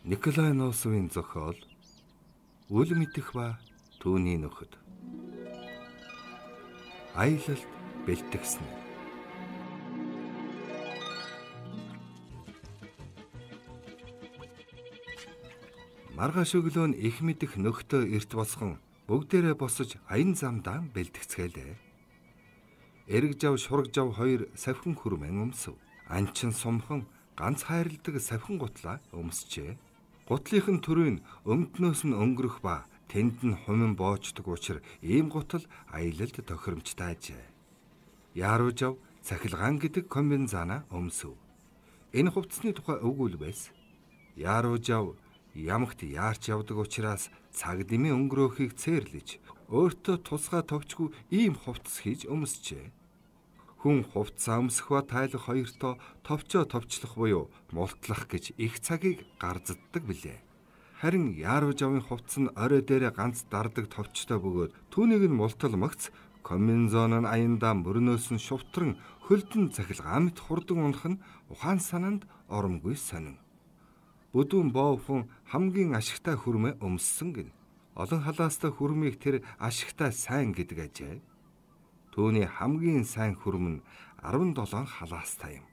Николай Носовын зохиол Үл мэдэх ба түүний нөхөд. Аялалд бэлтгэсэн. Маргааш өглөө нь их мэдэх нөхдөө эрт босгон бүгдээрээ босож аян замдаа бэлтгэцгээлээ. Эрэг жав шураг жав хоёр савхин хүрмэн өмсөв. Анчин сумхан ганц хайрладаг савхин гутлаа өмсчээ. Гутлынхын төрийн өмднөөс нь өнгөрөх ба тэнд нь хумин боочдөг учраас ийм гутал аялалд тохиромжтой ажээ. Яруу жав цахилгаан гэдэг комбинзана өмсөв. Энэ хувцсны тухай өгүүл байсан. Яруу жав ямагт яарч явдаг учраас цаг дэмий өнгөрөөхийг цээрлэж өөртөө тусгай товчгүй ийм хувцс хийж өмсчээ. Хүн хувцас өмсөх ба тайлах хоёртоо товчоо товчлох буюу мултлах гэж их цагийг гарзаддаг билээ. Харин яруу жавын хувцас нь орой дээрээ ганц дардаг товчтой бөгөөд түүнийг нь мултал магц комбинзон нь аяндаа мөрнөөс нь шувтран хөлдөн цахилгаан мэт хурдан унах нь ухаан санаанд оромгүй сонин. Бүдүүн боовхон хамгийн ашигтай хүрмээ өмссөн гин. Олон халаастай хүрмийг тэр ашигтай сайн гэдэг ажээ. Түүний хамгийн сайн хүрм нь 17 халаастай юм.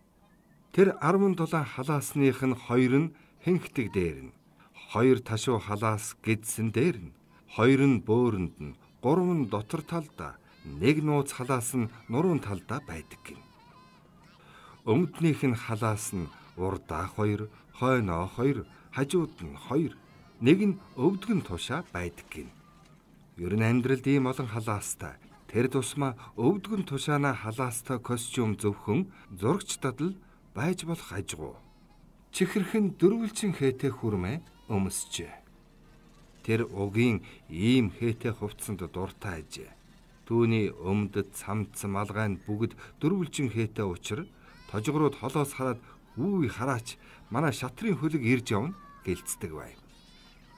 Тэр 17 халаасных нь 2 нь хэнхтэг дээр нь, 2 ташуу халаас гэдсэн дээр нь, 2 нь бөөрөнд нь, 3 нь дотор талдаа, 1 нууц халаас нь нуруун талдаа байдаг гин. Өмднийх нь халаас нь урдаа 2, хойноо 2, хажууд нь 2, нэг нь өвдгөн тушаа байдаг гин. Ер нь амьдралд ийм олон халаастай, тэр тусмаа өвдгөн тушаана халаастай костюм зөвхөн зурагчдад л байж болох ажгүй. Чихэрхэн дөрвөлжин хээтэй хүрмээ өмсчээ. Тэр угийн ийм хээтэй хувцсанд дуртай ажээ. Түүний өмдөд цамц малгайн бүгд дөрвөлжин хээтэй учраа тожгорууд холоос хараад үгүй хараач манай шатрын хөлөг ирж явна гэлцдэг байв.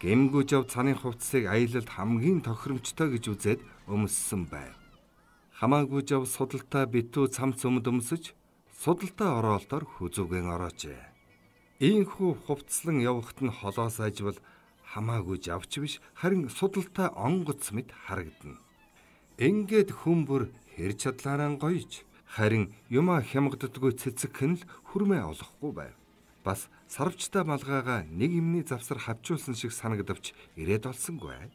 Гэмгүү жав цаны хувцсыг аялалд хамгийн тохиромжтой гэж үзээд өмссөн байв. Хамаагүй жав судалтай битүү цамц өмд өмсөж судалтай ороолтоор хүзүүгэн ороожээ. Ийхүү хувцлан явахт нь холоос ажвал хамаагүй жавч биш харин судалтай онгоц мэт харагдана. Ингээд хүмбэр хэр чадлаараа гоёж харин юма хямгддаггүй цэцэгхэн л хүрмээ олохгүй байв. Бас сарвчтай малгайгаа нэг юмны завсар хавчуулсан шиг санагдавч ирээд олсонгүй.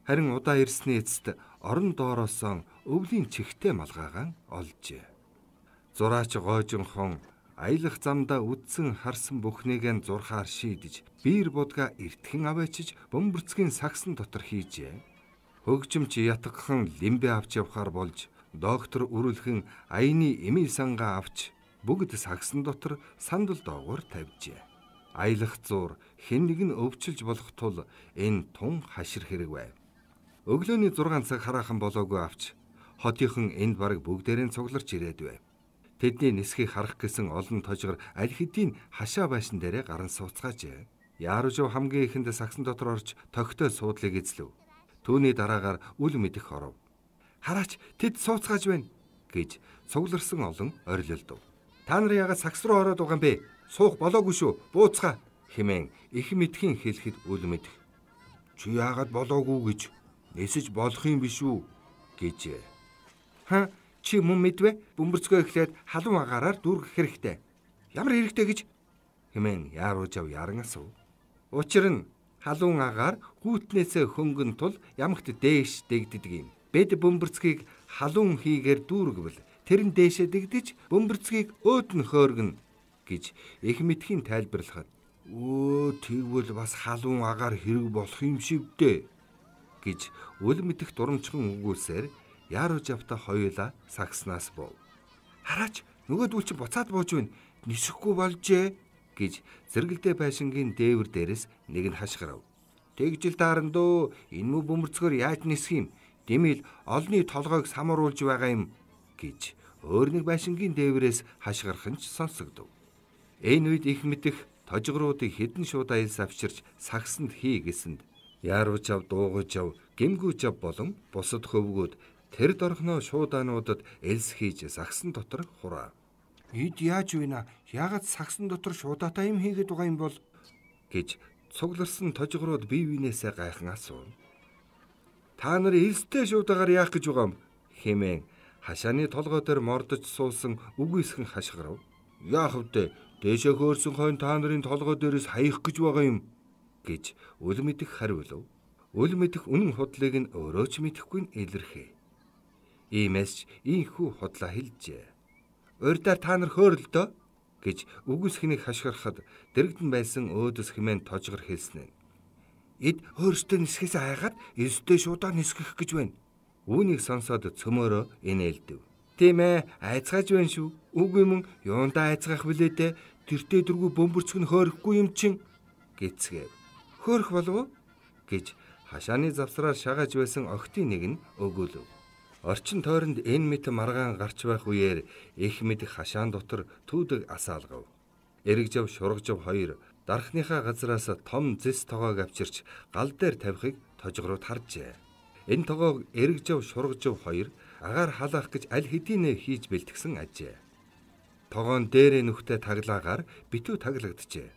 Харин удаа ирсний эцэст орон доороосоо өвлийн чихтэй малгайгаан олжээ. Зураач гоожинхон аялах замдаа үдсэн харсан бүхнийгээ зурхаар шийдэж биер будга эртхэн аваачиж бөмбөрцгийн сагсан дотор хийжээ. Хөгжимч ятгхан лимбэ авч явхаар болж доктор үрүүлхэн аяны эмийн сангаа авч бүгд сагсан дотор сандал доогуур тавьжээ. Аялах зур хэн нэг нь өвчилж болох тул энэ тун хашир хэрэг байв. Өглөөний 6 цаг хараахан болоогүй авч хотынхан энд бараг бүгдээрээ цугларч ирээд байв. Тэдний нисхийг харах гэсэн олон тожгор аль хэдийн хашаа байшин дээрээ гарan сууцгаажээ. Яруу жав хамгийн ихэнд сагсан дотор орж тогттой суудлыг эзлэв. Түүний дараагаар үл мэдэх оров. Хараач тэд сууцгааж байна гэж цугларсан олон орилолдов. Та нар яагаад сагс руу ороод байгаа юм бэ? Суух болоогүй шүү. Бууцгаа хэмээн их мэдхийн хэлэхэд үл мэдэх. Чи яагаад болоогүй гэж нисэж болох юм биш үү гэжээ. Ха чи мөн мэдвэ? Бөмбөрцгөө эхлээд халуун агаараар дүүргэх хэрэгтэй. Ямар хэрэгтэй гэж хэмээн яруу жав яран асуув. Учир нь халуун агаар гүйтнээсээ хөнгөн тул ямагт дээш дэгддэг юм. Бэд бөмбөрцгийг халуун хийгээр дүүргэвэл тэр нь дээшээ дэгдэж бөмбөрцгийг өөд нь хөөргөн гэж их мэдхийн тайлбарлахад тэгвэл бас халуун агаар хэрэг болох юм шиг дээ гэж үл мэдэх дурамчхан өгүүлсээр яруу жавта хоёулаа сагснаас бов. Хараач нөгөөдөл чи буцаад бууж байна. Нисэхгүй болжээ гэж зэрэгэлдээ байшингийн дээвэр дээрээс нэг нь хашгирав. Тэгжил даарандөө энэ мө бөмбөрцгөр яаж нисэх юм? Дэмэл олны толгойг самруулж байгаа юм гэж өөр нэг байшингийн дээврээс хашгирах нь сонсогдов. Энэ үед их мэдэх тожгоруудыг хэдэн шууд аялс авчирч сагсанд хий гэсэнд яруу жав дуугаж жав гэмгүү жав болон бусад хөвгүүд тэр дорхноо шуудаануудад элс хийж сагсан дотор хураа. Эд яаж вэ наа? Яагаад сагсан дотор шуудаатай юм хийгээд байгаа юм бол гэж цугларсан тожгорууд бие биенээсээ гайхан асуув. Та нар элстэй шуудагаар яах гэж байгаа юм хэмээн хашааны толгой дээр мордож суусан үгүйсгэн хашгирав. Яах вэ? Дээшээ хөөрсөн хойно та нарын толгой дээрээс хаях гэж байгаа юм гэж үл мэдэх хариулв. Үл мэдэх үнэн худлыг нь өөрөө ч мэдэхгүй нь илэрхээ. Иймээс ч ийхүү худлаа хэлжээ. Урьдаар та нар хөөрөлдөө гэж үгүйсгэнийг хашгирахад дэрэгдэн байсан өөдөс хэмээн тожгор хэлснэ. Эд өөрсдөө нисгэхээс айгаад элстэй шуудаа нисгэх гэж байна. Үүнийг сонсоод цөмөөрөө инээлдэв. Тийм ээ, айцгааж байна шүү. Үгүй мөн юундаа айцгаах вүлээ дээ. Тэртээ дөрвөө бөмбөрцөг нь хөөрөхгүй юм чин гэцгээв. Хөөрөх болов уу гэж хашааны завсраар шагааж байсан охтын нэг нь өгөөлөв. Орчин тойронд энэ мэт маргаан гарч байх үеэр их мэд хашаан дотор түүдэг асаалгав. Эрэгжав шургажав хоёр дарахныхаа газраас том зэс тоогоог авчирч гал дээр тавихыг тожгорууд харжээ. Энэ тоогоог эрэгжав шургажав хоёр агаар халаах гэж аль хэдийнэ хийж бэлтгэсэн ажээ. Тогоон дээрээ нүхтэй таглаагаар битүү таглагджээ.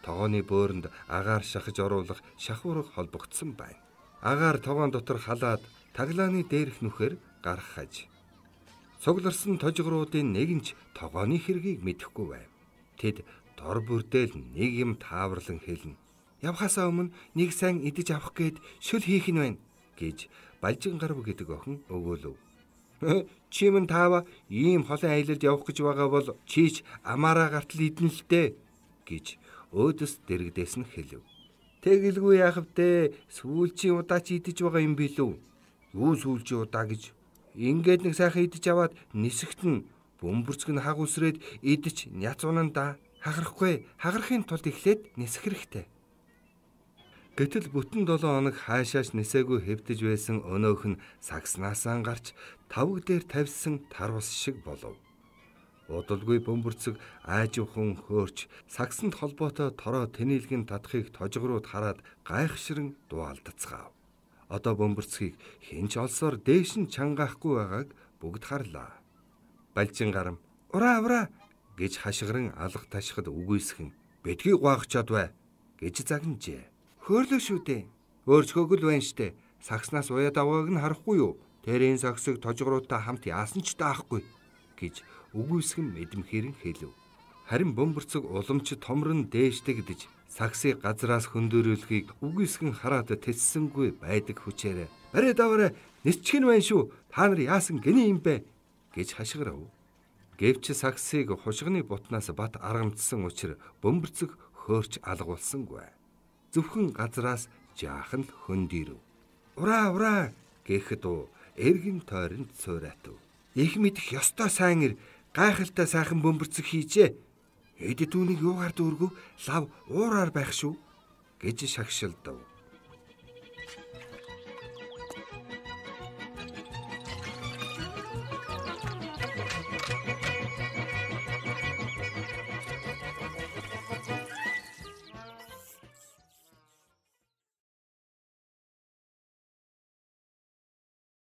Тогооны бөөрөнд агаар шахаж оруулах шахуурга холбогдсон байна. Агаар тогоон дотор халаад таглааны дээрх нүхээр гаргахаж. Цугларсан тожгоруудын нэг нь ч тогооны хэргийг мэдэхгүй байв. Тэд дор бүрдэл нэг юм тааварлан хэлнэ. Явхасаа өмнө нэг сайн идэж авах гээд шүл хийх нь байна гэж Балжин гарав гэдэг охин өгөөлөв. Чи мэн таава ийм холын аялалд явах гэж байгаа бол чийч амаараа гартал идэн л дээ гэж өөдөс дэрэгдээс нь хэлв. Тэгэлгүй яах вэ? Сүүлчийн удаа чи идэж байгаа юм билүү? Юу сүүлчийн удаа гэж? Ингээд нэг сайхан идэж аваад нисэгтэн бөмбөрцөг нь хаг үсрээд идэж няц унанда хахарахгүй. Хагарахын тулд эхлээд нисэх хэрэгтэй. Гэтэл бүтэн 7 хоног хаашааш нисээгүй хэвтэж байсан өнөөх нь сагснаасаа гарч тавг дээр тавьсан тар ус шиг болов. Удалгүй бөмбөрцөг ааживхан хөөрч сагсанд холбоотой тороо тэнэлгэн татахыг тожгорууд хараад гайхширан дуалдацгаав. Одоо бөмбөрцгийг хинч олсоор дээш нь чангаахгүй байгааг бүгд харлаа. Балжин гарам ураа гэж хашгиран алга ташхад үгүйсгэн бэдгийг гуайх чадвэ гэж загнажээ. Хөөрлөө шүү дээ. Өөрчгөөг л байна штэ. Сагснаас уяад авааг нь харахгүй юу? Тэрийн сагсыг тожгоруудтай хамт яасан ч таахгүй гэж үгүйсгэн мэдмхэрэн хэлв. Харин бөмбөрцөг уламж томрон дээштэгдэж сагсыг газраас хөндөөрүүлэхийг үгүйсгэн хараад тэссэнгүй байдаг хүчээрээ барай даваарай нисчих нь байна шүү. Та нар яасан гинэ юм бэ гэж хашгирав. Гэвч сагсыг хушгины бутнаас бат аргамдсан учраас бөмбөрцөг хөөрч алгуулсангүй. Зөвхөн газраас жаахан л хөндийрв. Ураа гэхэд эргэн тойронд цууратав. Их мэдэх ёстой сайн ир гайхалтай сайхан бөмбөрцөг хийжээ. Эд түүнийг юугаар дүүргөв лав уураар байх шүү гэж шагшилдав.